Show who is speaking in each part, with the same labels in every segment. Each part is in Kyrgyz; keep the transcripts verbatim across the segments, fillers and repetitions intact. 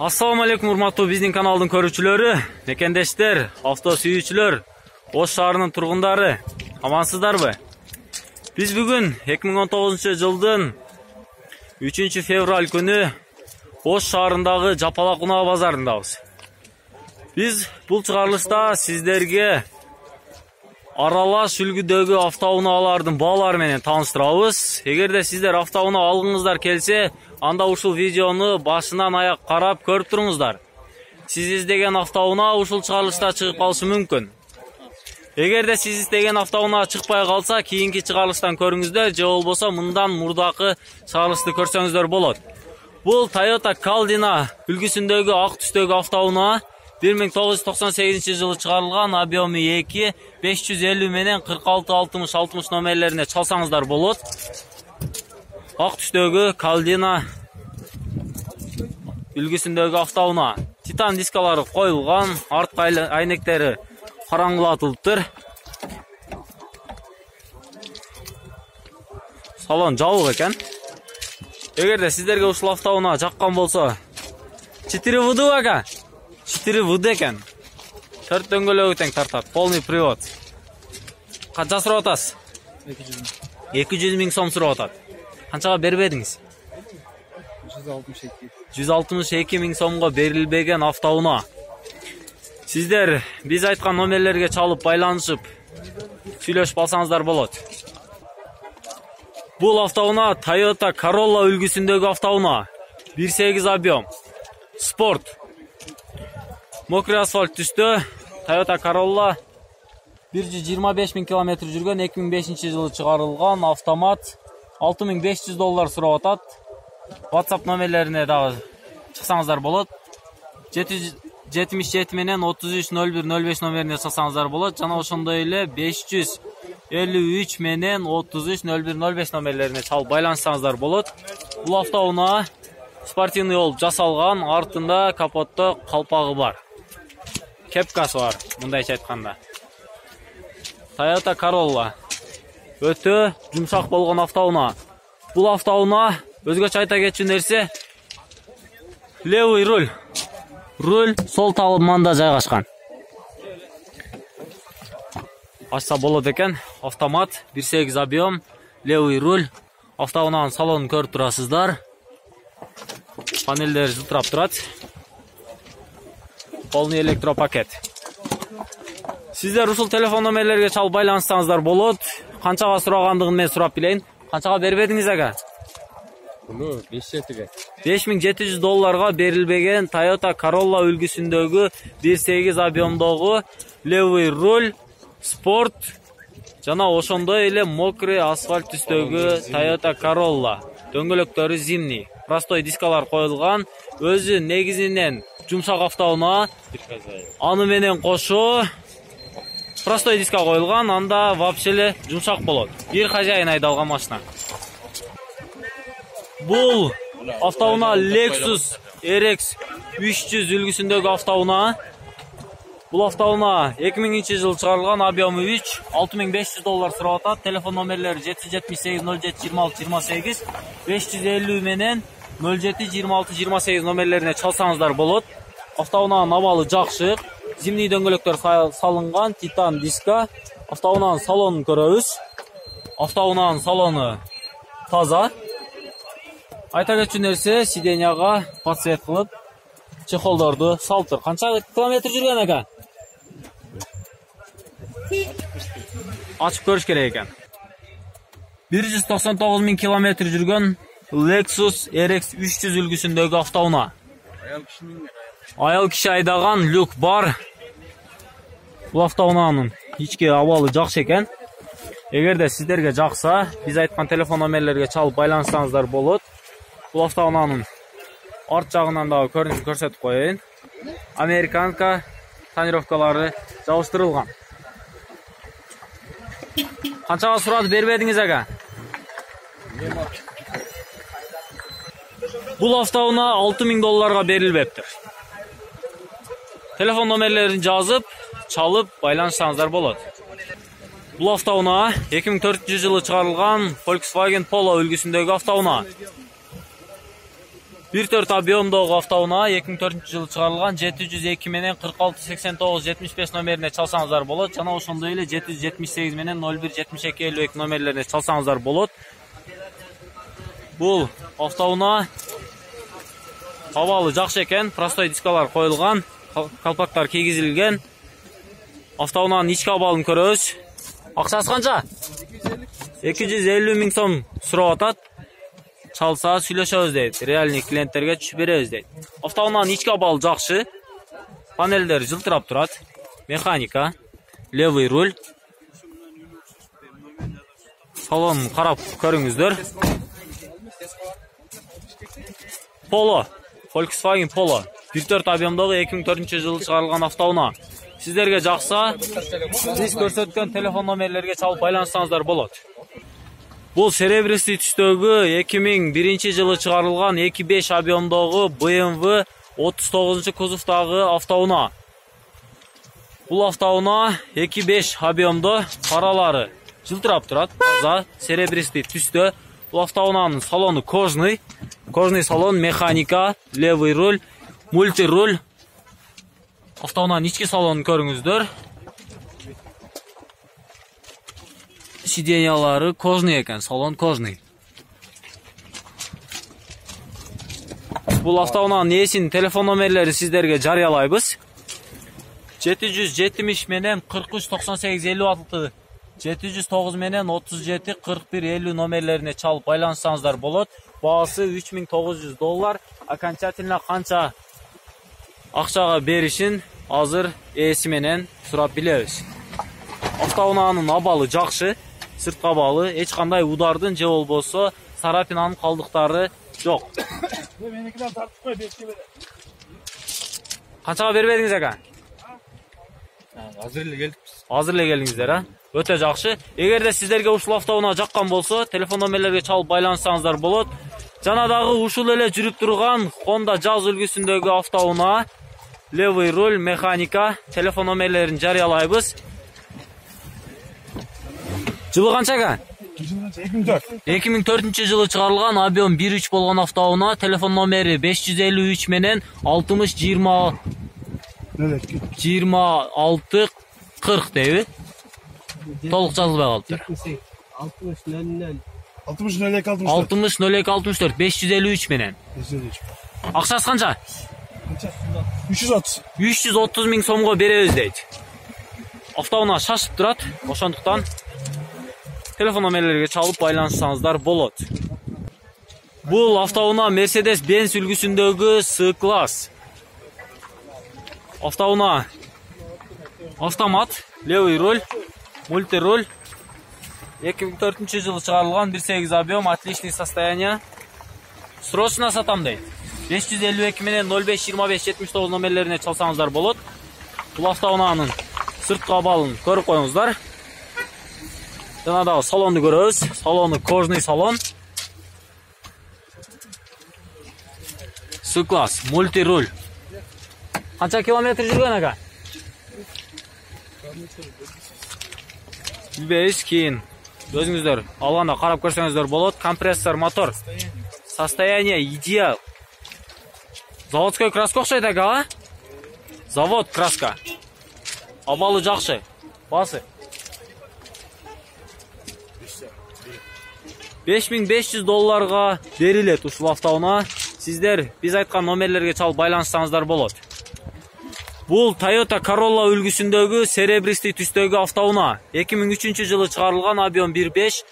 Speaker 1: Assalamu alaikum урматтуу биздин каналдын көрүүчүлөрү, мекендештер, авто сүйүүчүлөр, Ош шаарынын тургундары, амансыздарбы? Биз бүгүн эки миң он тогузунчу жылдын үчүнчү февраль күнү Ош шаарындагы Жапалак унаа базарындабыз. Биз бул чыгарылышта сиздерге аралаш үлгүдөгү автоунаалардын баалары менен тааныштырабыз. Эгерде сиздер автоунаа алгыңыздар келсе, анда ушул видеону башынан аяк карап көрүп туруңуздар. Сиз издеген автоунаа ушул чыгарылышта чыгып калышы мүмкүн. Эгерде сиз издеген автоунаа чыкпай калса, кийинки чыгарылыштан көрүңүздөр, же болбосо мындан мурдакы чыгарылышты көрсөңүздөр болот. Бул Toyota Caldina үлгүсүндөгү ак түстөгү автоунаа бир миң тогуз жүз токсон сегизинчи жылы чыгарылган, объему эки, беш жүз элүү менен кырк алты алтымыш алтымыш номерлерине чалсаңыздар болот. Ак түстөгү Caldina үлгүсүндөгү автоунаа. Титан дискалары коюлган, артка айнектери караңгылатылыптыр. Салон жабык экен. Эгерде сиздерге ушул автоунаа жаккан болсо, четыре вэ дэ ага. четыре вэ дэ экен. төрт дөңгөлөгү тең тартат, полный привод. Канча сурап атасыз? эки жүз миң сом сурап атат. Канчага бербедиңиз? жүз алтымыш эки миң сомго берилбеген автоунаа. Сиздер биз айткан номерлерге чалып байланышып сүйлөшүп алсаңыздар болот. Бул автоунаа Toyota Corolla үлгүсүндөгү автоунаа. бир сегиз объем. Спорт. Мокрый асфальт түстө Toyota Corolla бир жүз жыйырма беш миң километр жүргөн, эки миң бешинчи жылы чыгарылган автомат. алты миң беш жүз доллар сурап атат. WhatsApp номерлерине дагы чыксаңыздар болот. жетимиш жети менен отуз үч ноль бир ноль беш номерине чыксаңыздар болот. Жана ошондой эле беш жүз элүү үч менен отуз үч ноль бир ноль беш номерлерине чалып байланышсаңыздар болот. Бул автоунаа спортивный болуп жасалган, артында капотто калпагы бар. Кепкасы бар, мындайча айтканда. Toyota Corolla өтө жумшак болгон автоунаа. Бул автоунаа өзгөчө айта кетчү нерсе, левый руль. Руль сол табанында жайгашкан. Ачса болот экен. Автомат, бир сегиз объем, левый руль. Автоунаанын салонун көрүп турасыздар. Панелдер жылтырап турат. Полный электропакет. Сиздер ушул телефон номерлерге чалып байланышсаңыздар болот. Канчага сурагандыгын мен сурап билейин. Канчага бербедиңиз ага?
Speaker 2: Бул
Speaker 1: беш миң жети жүз долларга берилбеген Toyota Corolla үлгүсүндөгү бир сегиз объемдогу левый руль, спорт жана ошондой эле мокрый асфальт түстөгү Toyota Corolla. Дөңгөлөктөрү зимний, простой дискалар коюлган, өзү негизинен жумшак автоунаа. Аны менен кошо простой диска коюлган, анда вообще эле жумшак болот. Бир хажайын айдалган машина. Бул автоунаа Lexus эр икс үч жүз үлгүсүндөгү автоунаа. Бул автоунаа эки миңинчи жылы чыгарылган, объему үч, алты миң беш жүз доллар сурап атат. Телефон номерлери жети жүз жетимиш сегиз ноль жети жыйырма алты жыйырма сегиз, беш жүз элүү менен ноль жети жыйырма алты жыйырма сегиз номерлерине чалсаңыздар болот. Автоунаанын абалы жакшы, зимний дөңгөлөктөр салынган, титан диска. Автоунаанын салонун көрөбүз. Автоунаанын салону таза. Айта кетчү нерсе, сиденияга подсвет кылып, чехолдорду салыптыр. Канча километр жүргөн экен? Ачып көрүш керек экен. бир жүз токсон тогуз миң километр жүргөн Lexus эр икс үч жүз үлгүсүндөгү автоунаа. Аял киши айдаган, люк бар. Бул автоунаанын ички абалы жакшы экен. Эгерде сиздерге жакса, биз айткан телефон номерлерге чалып байланышсаңыздар болот. Бул автоунаанын арт жагынан дагы көрүнүшүн көрсөтүп коеюн. Американка тонировкалары жабыштырылган. Канчага сурады бербедиңиз ага? Бул автоунаа алты миң долларга берилбептир. Телефон номерлерин жазып, чалып байланышсаңыздар болот. Бул автоунаа эки миң төртүнчү жылы чыгарылган Volkswagen Polo үлгүсүндөгү автоунаа. бир төрт объемдогу автоунаа эки миң төртүнчү жылы чыгарылган жети жүз эки менен кырк алты сексен тогуз жетимиш беш номерине чалсаңыздар болот. Жана ошондой эле жети жүз жетимиш сегиз менен ноль бир жетимиш эки элүү эки номерлерине чалсаңыздар болот. Бул автоунаа абалы жакшы экен, простой дискалар коюлган, калпактар кийгизилген. Автоунаанын ички абалын көрөбүз. Акчасы канча? эки жүз элүү миң сом сурап атат. Чалса сүйлөшөбүз дейт. Реальный клиенттерге түшүп беребиз дейт. Автоунаанын ички абалы жакшы. Панелдер жылтырап турат. Механика, левый руль. Салонун карап көрүңүздөр. Polo, Volkswagen Polo. бир төрт объемдогу эки миң төртүнчү жылы чыгарылган автоунаа. Сиздерге жакса, биз көрсөткөн телефон номерлерге чалып байланышсаңыздар болот. Бул серебристый түстөгү эки миң биринчи жылы чыгарылган эки беш объемдогу бэ эм вэ отуз тогузунчу кузовдагы автоунаа. Бул автоунаа эки беш объемдо, паралары жылтырап турат, таза серебристый түстө. Бул автоунаанын салону кожный, кожный салон, механика, левый руль, мультируль. Автоунаанын ички салонун көрүңүздөр. Сиденьялары кожный экен, салон кожный. Бул автоунаанын ээсинин телефон номерлерин сиздерге жарыялайбыз. жети жүз жетимиш менен кырк үч токсон сегиз элүү алты, жети жүз тогуз менен отуз жети кырк бир элүү номерлерине чалып байланышсаңыздар болот. Баасы үч миң тогуз жүз доллар. Окончательно канча акчага беришин азыр ээси менен сурап билебиз. Автоунаанын абалы жакшы, сырткы абалы, эч кандай удардын же болбосо царапинанын калдыктары жок.
Speaker 3: Меникиден тартып кой, бешке бере.
Speaker 1: Канчага бербедиңиз ака?
Speaker 3: Азыр эле келдикпиз.
Speaker 1: Азыр эле келдиңиздер, а? Өтө жакшы. Эгерде сиздерге ушул автоунаа жаккан болсо, телефон номерлерге чалып байланышсаңыздар болот. Жана дагы ушул эле жүрүп турган Honda Jazz үлгүсүндөгү автоунаа, левый руль, механика, телефон номерлерин жарыялайбыз. Жылы канча ака?
Speaker 3: эки миң төрт.
Speaker 1: эки миң төртүнчү жылы чыгарылган, объем бир үч болгон автоунаа, телефон номери беш жүз элүү үч менен алтымыш жыйырма жыйырма алты кырк дейби? Толук жазылбай калыптыр.
Speaker 3: алтымыш нөл эки алтымыш төрт.
Speaker 1: алтымыш нөл эки алтымыш төрт, беш жүз элүү үч менен. Акчасы канча?
Speaker 3: үч жүз отуз.
Speaker 1: үч жүз отуз миң сомго беребиз дейт. Автоунаа шашып турат, ошондуктан телефон номерлерге чалып байланышсаңыздар болот. Бул автоунаа Mercedes-Benz үлгүсүндөгү C-класс. Автоунаа автомат, левый руль, мультируль. эки миң төртүнчү жылы чыгарылган, бир сегиз объем, отличный состояние. Срочно сатам дейт. беш жүз элүү эки менен ноль беш жыйырма беш жетимиш тогуз номерлерине чалсаңыздар болот. Бул автоунаанын сырткы абалын көрүп коюңуздар. Жана дагы салонду көрөбүз. Салону кожный салон. C-класс, мультируль. Канча километр жүргөн ака? Билбейбиз, кийин өзүңүздөр алганда карап көрсөңүздөр болот. Компрессор, мотор. Состояние идеал. Заводской краска окшойт ака, а? Завод краска. Абалы жакшы. Басы. беш миң беш жүз долларга берилет ушул автоунаа. Сиздер биз айткан номерлерге чалып байланышсаңыздар болот. Бул Toyota Corolla үлгүсүндөгү серебристый түстөгү автоунаа. эки миң үчүнчү жылы чыгарылган, объем бир беш,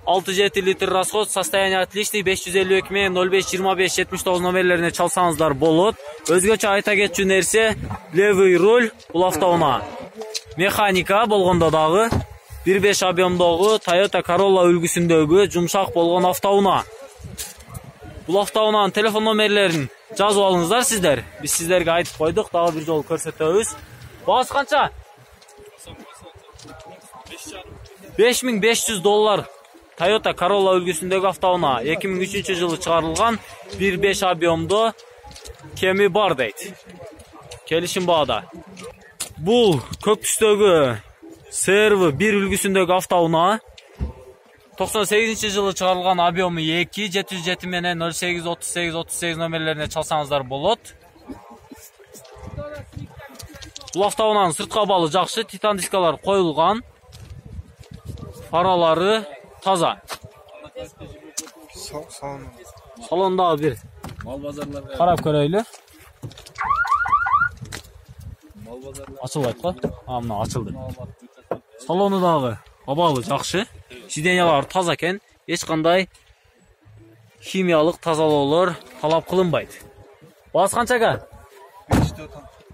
Speaker 1: алты жети литр расход, состояние отличный, беш жүз элүү эки менен ноль беш жыйырма беш жетимиш тогуз номерлерине чалсаңыздар болот. Өзгөчө айта кетчү нерсе, левый руль бул автоунаа. Механика болгондо дагы бир беш объемдогу Toyota Corolla үлгүсүндөгү жумшак болгон автоунаа. Бул автоунаанын телефон номерлерин жазып алыңыздар сиздер. Биз сиздерге айтып койдук, дагы бир жолу көрсөтөбүз. Баасы канча? беш миң беш жүз доллар. Toyota Corolla үлгүсүндөгү автоунаа. эки миң үчүнчү жылы чыгарылган, бир беш объемдо, кеми бар дейт. Келишим баада. Бул көк түстөгү C R V бир үлгүсүндөгү автоунаа. токсон сегизинчи жылы чыгарылган объему эки, жети жүз жети менен нөл сегиз отуз сегиз отуз сегиз номерлерине чалсаңыздар болот. Бул автоунаанын сырткы абалы жакшы, титан дискалар коюлган. Фаралары таза. Салондагы бир
Speaker 2: Мал базарларга.
Speaker 1: карап көрөйлү.
Speaker 2: Мал базарларга.
Speaker 1: Ачылбайт го? А, мына ачылды. Салону дагы абалы жакшы. Сиденьялар таза экен. Эч кандай химиялык тазалоолор талап кылынбайт. Баасы канчага?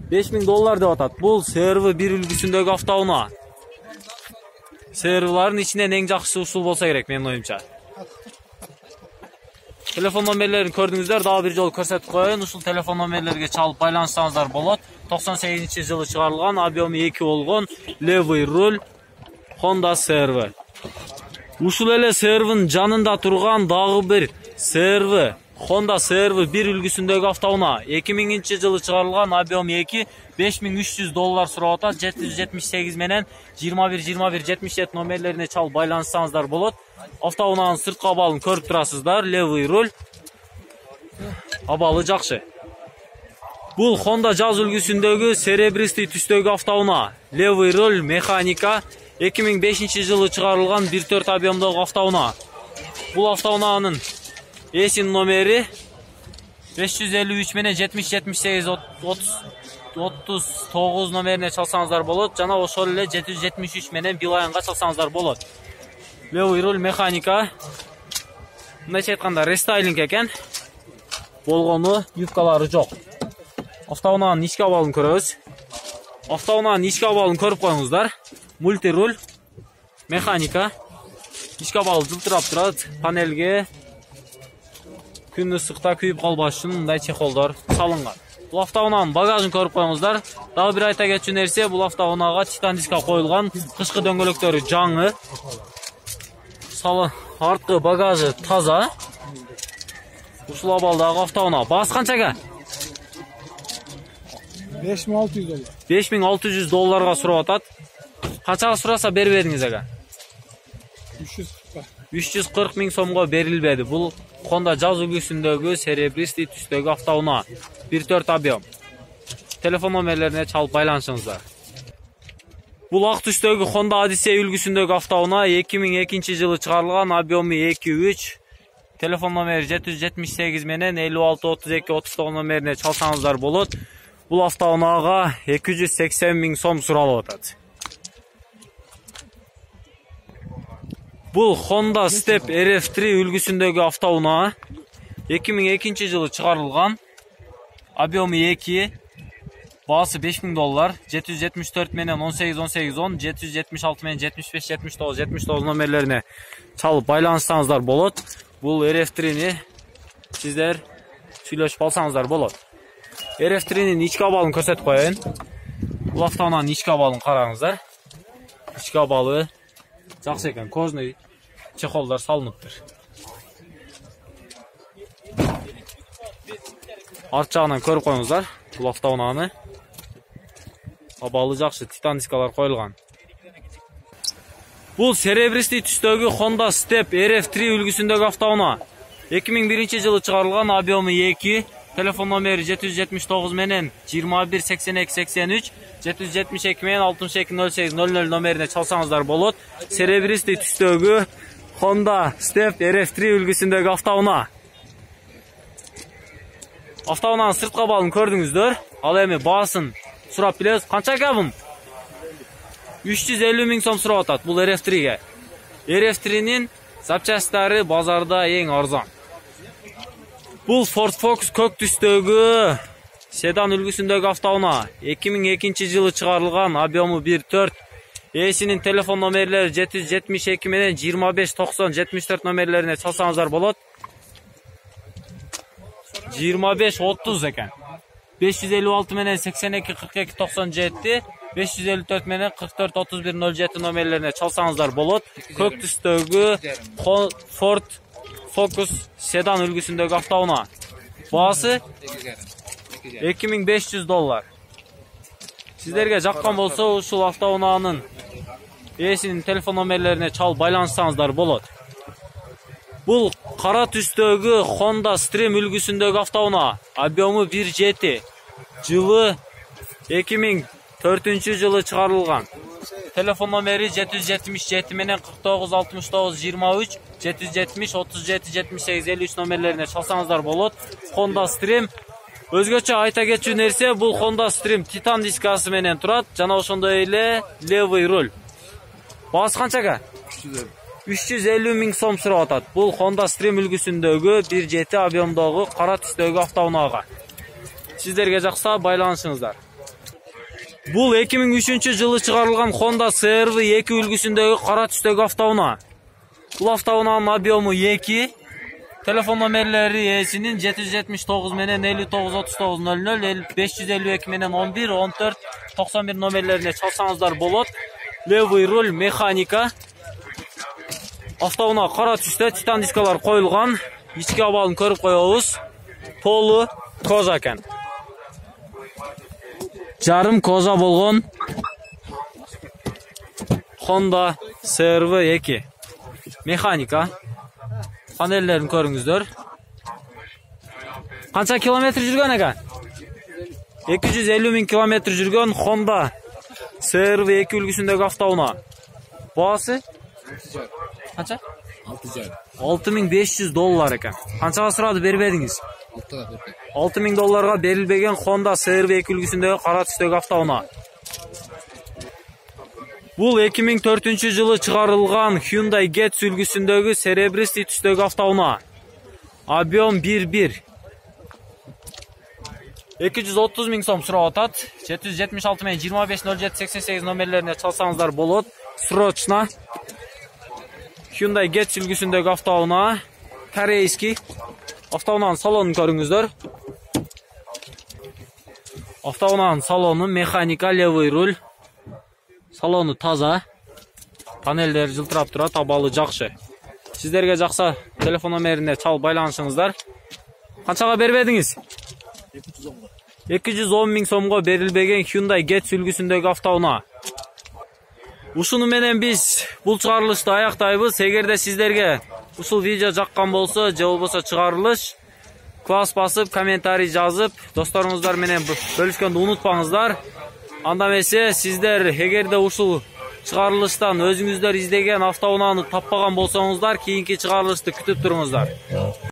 Speaker 1: беш миң доллар деп атат. Бул си эр ви бир үлгүсүндөгү автоунаа. си эр вилардын ичинен эң жакшысы ушул болсо керек менин оюмча. Телефон номерлерин көрдүңүздөр, дагы бир жолу көрсөтүп коеюн. Ушул телефон номерлерге чалып байланышсаңыздар болот. токсон сегизинчи жылы чыгарылган, объему эки болгон левый руль Honda си эр ви. Ушул эле си эр винин жанында турган дагы бир си эр ви Honda си эр ви бир үлгүсүндөгү автоунаа. эки миңинчи жылы чыгарылган, объему эки, беш миң үч жүз доллар сурап атат. жети жүз жетимиш сегиз менен жыйырма бир жыйырма бир жетимиш жети номерлерине чалып байланышсаңыздар болот. Автоунаанын сырткы абалын көрүп турасыздар. Левый руль абалы жакшы. Бул Honda жаз үлгүсүндөгү серебристый түстөгү автоунаа. Левый руль механика. эки миң бешинчи жылы чыгарылган бир төрт объемдогу автоунаа. Бул автоунаанын эсин номери беш жүз элүү үч менен жетимиш жетимиш сегиз отуз тогуз номерине чалсаңыздар болот. Жана ошол эле жети жүз жетимиш үч менен билайынга чалсаңыздар болот. Левый руль механика. Мындайча айтканда рестайлинг экен. Болгону юбкалары жок. Автоунаанын ички абалын көрөбүз. Автоунаанын ички абалын көрүп коюңуздар. Мультируль механика. Ички абалы жылтырап турат. Панелге күн ысыкта күйүп калбаш үчүн мындай чехолдор салынган. Бул автоунаанын багажын көрүп коюңуздар. Дагы бир айта кетчү нерсе, бул автоунаага титан диска коюлган. Кышкы дөңгөлөктөрү жаңы. Салы арткы багажы таза. Ушул абалдагы автоунаа. Баасы канчага?
Speaker 3: беш миң алты жүз доллар.
Speaker 1: беш миң алты жүз долларга сурап атат. Канчага сураса бербедиңиз ага? үч жүз кырк миң сомго берилбеди. Бул Honda жаз үлгүсүндөгү серебристый түстөгү автоунаа. бир төрт объем. Телефон номерлерине чалып байланышыңыздар. Бул ак түстөгү Honda Odyssey үлгүсүндөгү автоунаа эки миң экинчи жылы чыгарылган, объему эки үч. Телефон номери жети жүз жетимиш сегиз менен элүү алты отуз эки отуз тогуз номерине чалсаңыздар болот. Бул автоунаага эки жүз сексен миң сом суралып атат. Бул Honda Step эр эф три үлгүсүндөгү автоунаа. эки миң экинчи жылы чыгарылган, объему эки, баасы беш миң доллар. жети жүз жетимиш төрт менен он сегиз он сегиз он, жети жүз жетимиш алты менен жетимиш беш жетимиш тогуз жетимиш тогуз номерлерине чалып байланышсаңыздар болот. Бул эр эф трини сиздер сүйлөшүп алсаңыздар болот. эр эф тринин ички абалын көрсөтүп коеюн. Бул автоунаанын ички абалын караңыздар. Ички абалы жакшы экен, кожный чехолдор салыныптыр. Арт жагынан көрүп коюңуздар. Бул автоунааны абалы жакшы, титан дискалар коюлган. Бул серебристый түстөгү Honda Step эр эф три үлгүсүндөгү автоунаа. эки миң биринчи жылы чыгарылган, объему эки. Телефон номери жети жүз жетимиш тогуз менен жыйырма бир сексен эки сексен үч, жети жүз жетимиш эки менен алтымыш эки нөл сегиз нөл нөл номерине чалсаңыздар болот. Серебристый түстөгү Honda Step эр эф три үлгүсүндөгү автоунаа. Автоунаанын сырткы абалын көрдүңүздөр. Ал эми баасын сурап билебиз. Канчага бул? үч жүз элүү миң сом сурап атат бул эр эф триге. эр эф тринин запчасттары базарда эң арзан. Бул Ford Focus көк түстөгү седан үлгүсүндөгү автоунаа. эки миң экинчи жылы чыгарылган, объему бир төрт. Эсинин телефон номерлери жети жүз жетимиш эки менен жыйырма беш токсон жетимиш төрт номерлерине чалсаңыздар болот. жыйырма беш отуз экен. беш жүз элүү алты менен сексен эки кырк эки токсон жети, беш жүз элүү төрт менен кырк төрт отуз бир нөл жети номерлерине чалсаңыздар болот. Көк түстөгү Ford Focus седан үлгүсүндөгү автоунаа. Баасы эки миң беш жүз доллар. Сиздерге жаккан болсо ушул автоунаанын эсинин телефон номерлерине чалып байланышсаңыздар болот. Бул кара түстөгү Honda Stream үлгүсүндөгү автоунаа. Объему бир жети. Жылы эки миң төртүнчү жылы чыгарылган. Телефон номери жети жүз жетимиш жети менен кырк тогуз алтымыш тогуз жыйырма үч, жети жүз жетимиш отуз жети жетимиш сегиз элүү үч номерлерине чалсаңыздар болот. Honda Stream. Өзгөчө айта кетчү нерсе, бул Honda Stream титан дискасы менен турат, жана ошондой эле левый руль. Баасы канчага? үч жүз элүү миң сом сурап атат. Бул Honda Stream үлгүсүндөгү бир жети объемдогу кара түстөгү автоунаага. Сиздерге жакса байланышыңыздар. Бул эки миң үчүнчү жылы чыгарылган Honda си эр ви эки үлгүсүндөгү кара түстөгү автоунаа. Бул автоунаанын объему эки. Телефон номерлери ээсинин жети жүз жетимиш тогуз менен элүү тогуз отуз тогуз нөл нөл, беш жүз элүү эки менен он бир он төрт токсон бир номерлерине чалсаңыздар болот. Левый руль, механика. Автоунаа кара түстө, титан дискалар коюлган. Ички абалын көрүп коебуз. Полу кожа экен. Жарым кожа болгон Honda си эр ви эки. Механика. Панеллерин көрүңүздөр. Канча километр жүргөн экен? эки жүз элүү миң километр жүргөн Honda си эр ви эки үлгүсүндөгү автоунаа. Баасы? Канча? алты миң беш жүз доллар экен. Канчага сурады, бербедиңиз? алты миң долларга берилбеген Honda си эр ви эки үлгүсүндөгү кара түстөгү автоунаа. Бул эки миң төртүнчү жылы чыгарылган Hyundai Getz үлгүсүндөгү серебристый түстөгү автоунаа. Объем бир бир. эки жүз отуз миң сом сурап атат. жети жүз жетимиш алты менен жыйырма беш нөл жети сексен сегиз номерлерине чалсаңыздар болот. Срочно. Hyundai Getz үлгүсүндөгү автоунаа. Корейский. Автоунаанын салонун көрүңүздөр. Автоунаанын салону механика, левый руль. Салону таза. Панелдер жылтырап турат, абалы жакшы. Сиздерге жакса телефон номерине чалып байланышыңыздар. Канчага бербедиңиз? эки жүз он миң сомго берилбеген Hyundai Getz үлгүсүндөгү автоунаа. Ушуну менен биз бул чыгарылышты аяктайбыз. Эгерде сиздерге ушул видео жаккан болсо, же болбосо чыгарылыш, класс басып, комментарий жазып, досторуңуздар менен бөлүшкөндү унутпаңыздар. Анда эмесе сиздер эгерде ушул чыгарылыштан өзүңүздөр издеген автоунааны таппаган болсоңуздар, кийинки чыгарылышты күтүп туруңуздар.